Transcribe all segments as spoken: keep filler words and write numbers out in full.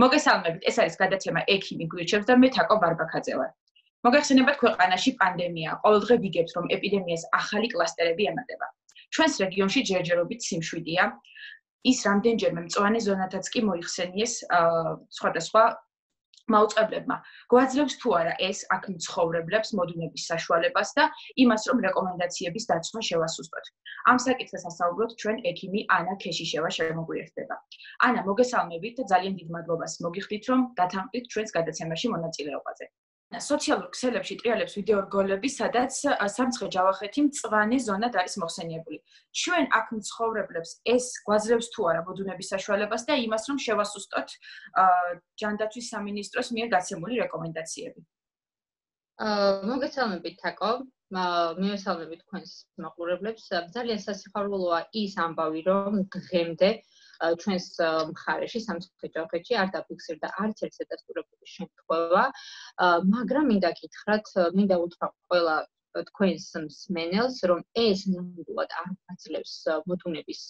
მოგესალმებით, ეს არის გადაცემა ექიმი გვირჩევს და მე თაკო ბარბაქაძე ვარ. მოგეხსენებათ, ქვეყანაში პანდემია, ყოველდღე ვიგებთ, რომ ეპიდემიას ახალი კლასტერები ემატება. ჩვენს რეგიონში ჯერჯერობით სიმშვიდეა, ის რამდენჯერმე მწვანე ზონათაც კი მოიხსენიეს სხვადასხვა მაუწყებლებმა. გვაძლევს თუ არა ეს აქ მცხოვრებლებს მოდუნების საშუალებას და იმას, რომ რეკომენდაციების დაცვა შევასუსტოთ. ამ საკითხს ასაუბროთ ჩვენ ექიმი ანა ქეშიშევა შემოგვიერთდება. ანა, მოგესალმებით და ძალიან დიდ მადლობას მოგიხდით, რომ დათანხმდით ჩვენს გადაცემაში მონაწილეობაზე. სოციალურ ქსელებში ტრიალებს ვიდეო რგოლები, სადაც სამცხე ჯავახეთი მწვანე ზონად არის მოხსენიებული. ჩვენ აქ მცხოვრებლებს ეს გვაძლევს თუ არა მოდუნების საშუალებას და იმას, რომ შევასუსტოთ ჯანდაცვის სამინისტროს მიერ გაცემული რეკომენდაციები. მოგესალმებით, თაკო. მივესალმებით თქვენს მაყურებლებს. ძალიან სასიხარულოა ის ამბავი, რომ დღემდე ჩვენს მხარეში სამცხე ჯავახეთში არ დაფიქსირდა არც ერთი დადასტურებული შემთხვევა, მაგრამ მინდა გითხრათ, მინდა უთხრა ყველა თქვენს მსმენელს, რომ ეს ნამდვილად არ გვაძლევს მოდუნების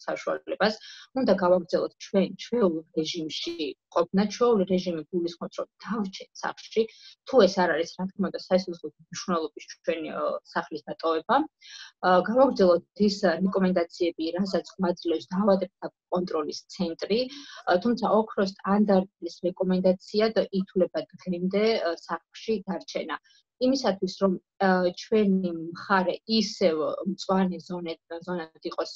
საშუალებას. უნდა გავაგრძელოთ ჩვენ ჩვეულ რეჟიმში ყოფნა, ჩვეულ რეჟიმი გულისხმობს, რომ დავრჩეთ სახლში. თუ ეს არ არის, რა თქმა უნდა, საერთაშორისო მნიშვნელობის ჩვენი სახლის დატოვება. გავაგრძელოთ ის რეკომენდაციები, რასაც გვაძლევს დაავადებათა კონტროლის ცენტრი, თუმცა ოქროს სტანდარტის რეკომენდაციად ითვლება დღემდე სახლში დარჩენა. იმისათვის, რომ ჩვენი მხარე ისევ მწვანე ზონად იყოს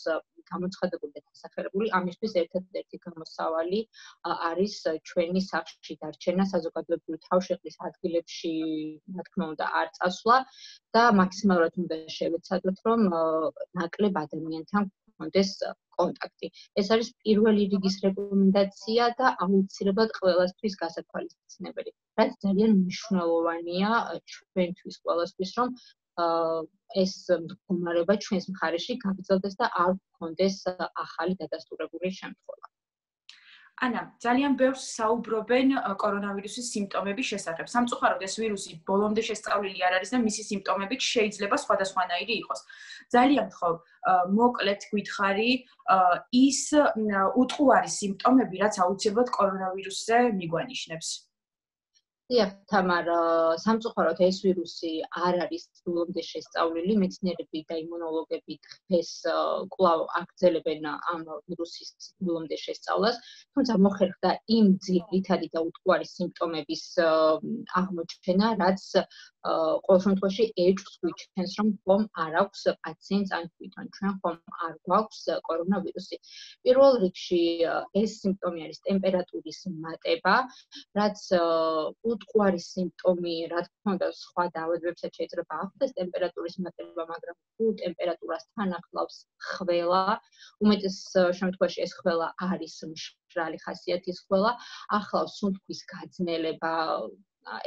გამოცხადებული და დასახელებული, ამისთვის ერთადერთი გამოსავალი არის ჩვენი სახლში დარჩენა, საზოგადოებრივი თავშეყრის ადგილებში, რა თქმა უნდა, არ წასვლა და მაქსიმალურად უნდა შევეცადოთ, რომ ნაკლებ ადამიანთან გქონდეს კონტაქტი. ეს არის პირველი რიგის რეკომენდაცია და აუცილებლად ყველასთვის გასათვალისწინებელი. რაც ძალიან მნიშვნელოვანია ჩვენთვის ყველასთვის, რომ ეს მდგომარეობა ჩვენს მხარეში გაგრძელდეს და არ გქონდეს ახალი დადასტურებული შემთხვევა. ანა, ძალიან ბევრს საუბრობენ კორონავირუსის სიმპტომების შესახებ. სამწუხაროდ ეს ვირუსი ბოლომდე შესწავლილი არ არის და მისი სიმპტომებიც შეიძლება სხვადასხვანაირი იყოს. ძალიან გთხოვ, მოკლედ გითხარი ის უტყუარი სიმპტომები, რაც აუცილებლად კორონავირუსზე მიგვანიშნებს. დიახ, თამარ, სამწუხაროდ ეს ვირუსი არ არის ბოლომდე შესწავლილი, მეცნიერები და იმუნოლოგები დღეს კვლავ აგრძელებენ ამ ვირუსის ბოლომდე შესწავლას, თუმცა მოხერხდა იმ ძირითადი და უტყუარი სიმპტომების აღმოჩენა, რაც ყოველ შემთხვევაში ეჭვს გვიჩვენს, რომ ხომ არ აქვს პაციენტს ან თვითონ ჩვენ ხომ არ გვაქვს კორონავირუსი. პირველ რიგში ეს სიმპტომი არის ტემპერატურის მატება, რაც უტყუარი სიმპტომი, რა თქმა უნდა, სხვა დაავადებებსაც შეიძლება ახდენს ტემპერატურის მატება, მაგრამ თუ ტემპერატურასთან ახლავს ხველა, უმეტეს შემთხვევაში ეს ხველა არის მშრალი ხასიათის ხველა, ახლავს სუნთქვის გაძნელება,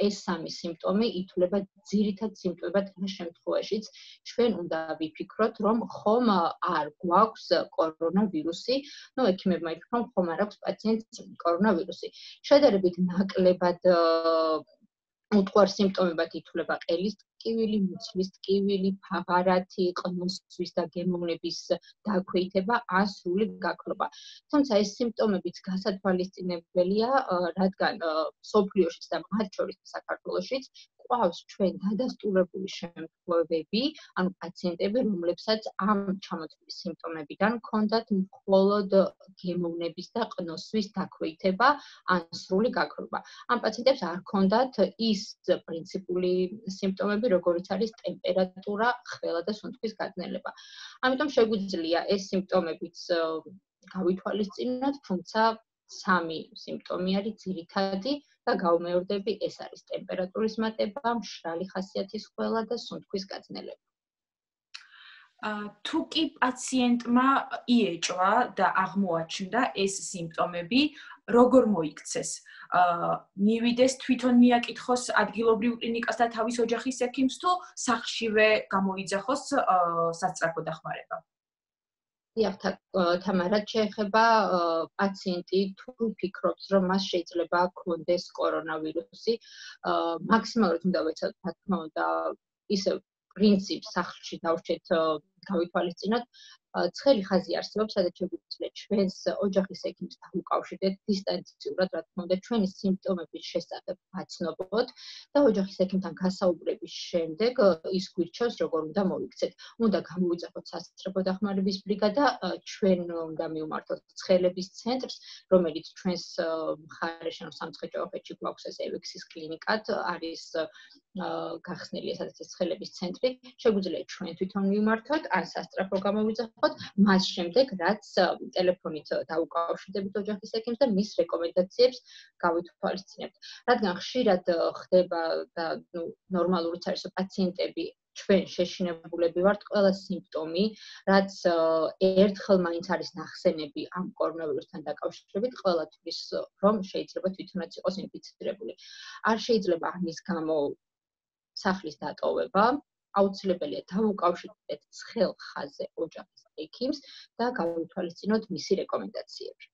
ეს სამი სიმპტომი ითვლება ძირითად სიმპტომებად იმ შემთხვევაშიც ჩვენ უნდა ვიფიქროთ, რომ ხომ არ გვაქვს კორონავირუსი, ну ექიმებმა ითქვათ, ხომ არ აქვს პაციენტს კორონავირუსი. შედარებით ნაკლებად უტყუარ სიმპტომებად ითვლება ყელის ტკივილი, მუცლის ტკივილი, ფაღარათი, ყნოსვის და გემოვნების დაქვეითება, ან სრული გაქრობა. თუმცა ეს სიმპტომებიც გასათვალისწინებელია, რადგან მსოფლიოშიც და მათ შორის საქართველოშიც ყავს ჩვენ დადასტურებული შემთხვევები, ანუ პაციენტები, რომლებსაც ამ ჩამოთვლილი სიმპტომებიდან ჰქონდათ მხოლოდ გემოვნების და ყნოსვის დაქვეითება, ან სრული გაქრობა. ამ პაციენტებს არ ჰქონდათ ის პრინციპული სიმპტომები, როგორც არის ტემპერატურა, ხველა და სუნთქვის გაძნელება. ამიტომ შეგვიძლია ეს სიმპტომებიც გავითვალისწინოთ, თუმცა სამი სიმპტომი არის ძირითადი და გავუმეორდები, ეს არის ტემპერატურის მატება, მშრალი ხასიათის ხველა და სუნთქვის გაძნელება. თუ კი პაციენტმა იეჭვა და აღმოაჩნდა ეს სიმპტომები, როგორ მოიქცეს? მივიდეს თვითონ მიაკითხოს ადგილობრივ კლინიკას და თავის ოჯახის ექიმს თუ სახლშივე გამოიძახოს სასწრაფო დახმარება? დიახ, თამარა, შეეხება პაციენტი თუ ფიქრობს, რომ მას შეიძლება ჰქონდეს კორონავირუსი, მაქსიმალურად უნდა ვეცადოთ, რა თქმა უნდა, ისევ პრინციპს სახლში დავრჩეთ გავითვალისწინოთ, ცხელი ხაზი არსებობს, სადაც შეგვიძლია ჩვენს ოჯახის ექიმს დავუკავშირდეთ დისტანციურად, რა თქმა უნდა, ჩვენი სიმპტომების შესახებ ვაცნობოთ და ოჯახის ექიმთან გასაუბრების შემდეგ ის გვირჩევს, როგორ უნდა მოვიქცეთ. უნდა გამოვიძახოთ სასწრაფო დახმარების ბრიგადა, ჩვენ უნდა მივმართოთ ცხელების ცენტრს, რომელიც ჩვენს მხარეში, ანუ სამცხე-ჯავახეთში გვაქვს ეს ევექსის კლინიკად, არის გახსნილი სადაც ეს ცხელების ცენტრი. შეგვიძლია ჩვენ თვითონ მივმართოთ, ან სასწრაფო გამოვიძახოთ, მას შემდეგ რაც ტელეფონით დაუკავშირდებით ოჯახის ექიმს და მის რეკომენდაციებს გავითვალისწინებთ. რადგან ხშირად ხდება და ნუ ნორმალურიც არის პაციენტები ჩვენ შეშინებულები ვართ ყველა სიმპტომი, რაც ერთხელ მაინც არის ნახსენები ამ კორონავირუსთან დაკავშირებით, ყველათვის რომ შეიძლება თვითონაც იყოს ინფიცირებული. არ შეიძლება ამის გამო სახლის დატოვება, აუცილებელია დავუკავშირდეთ ცხელ ხაზზე ოჯახის ექიმს და გავითვალისწინოთ მისი რეკომენდაციები.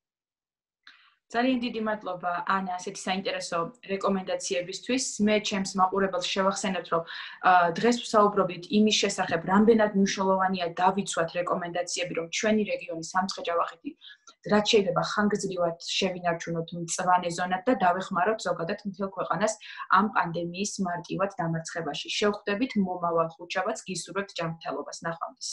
ძალიან დიდი მადლობა ანა ასეთი საინტერესო რეკომენდაციებისთვის. მე ჩემს მაყურებელს შევახსენებთ, რომ დღეს ვსაუბრობთ იმის შესახებ, რამდენად მნიშვნელოვანია დავიცვათ რეკომენდაციები, რომ ჩვენი რეგიონი სამცხე-ჯავახეთი რაც შეიძლება ხანგრძლივად შევინარჩუნოთ მწვანე ზონად და დავეხმაროთ ზოგადად მთელ ქვეყანას ამ პანდემიის მარტივად დამარცხებაში. შევხვდებით მომავალ ხუთშაბათს, გისურვებთ ჯანმრთელობას. ნახვამდის.